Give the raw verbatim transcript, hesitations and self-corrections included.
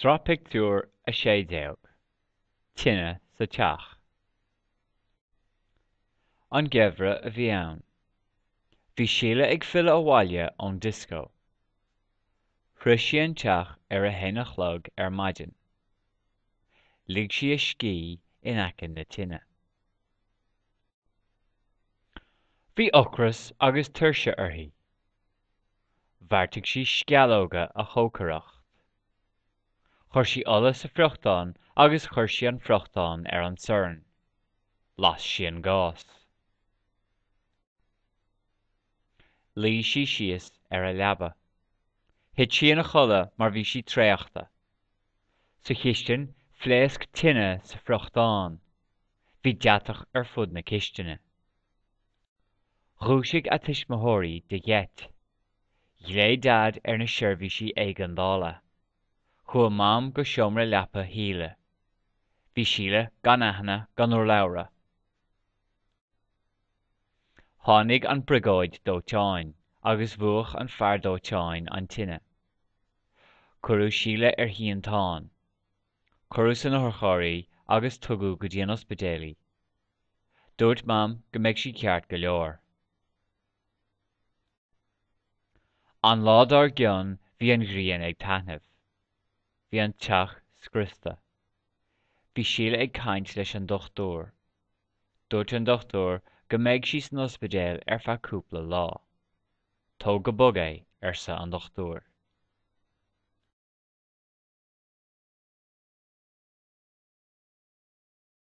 Sraith pictiúr a sé déag Tine sa teach. An geimhreadh a bhí ann. Bhí Síle ag filleadh abhaile ón dioscó. Shroich sí an teach ar a haon a chlog ar maidin. Lig sí a scíth in aice na tine. Bhí ocras agus tuirse uirthi. Bheartaigh sí sceallóga a chócaireacht. Chuir sí ola sa friochtán agus chuir sí an friochtán ar an sorn. Las sí an gás. Luigh sí síos ar a leaba. Thit sí ina chodladh mar bhí sí traochta. Sa chistin, phléasc tine sa friochtán. Bhí deatach ar fud na cistine. Dhúisigh a tuismitheoirí de gheit. Ghlaoigh Daid ar na seirbhísí éigeandála. Chuaigh Mam go seomra leapa Shíle. Bhí Síle gan aithne gan urlabhra. Tháinig an briogáid dóiteáin agus mhúch an fear dóiteáin an tine. Cuireadh Síle ar shínteán. Cuireadh san otharcharr í agus tugadh go dtí an ospidéal í. Dúirt Mam go mbeidh sí ceart go leor. An lá dár gcionn bhí an ghrian ag taitneamh. Bhí an teach scriosta. Bhí Síle ag caint leis an dochtúir. Dúirt an dochtúir go mbeidh sí san ospidéal ar feadh cúpla lá. Tóg go bog é, arsa an dochtúir.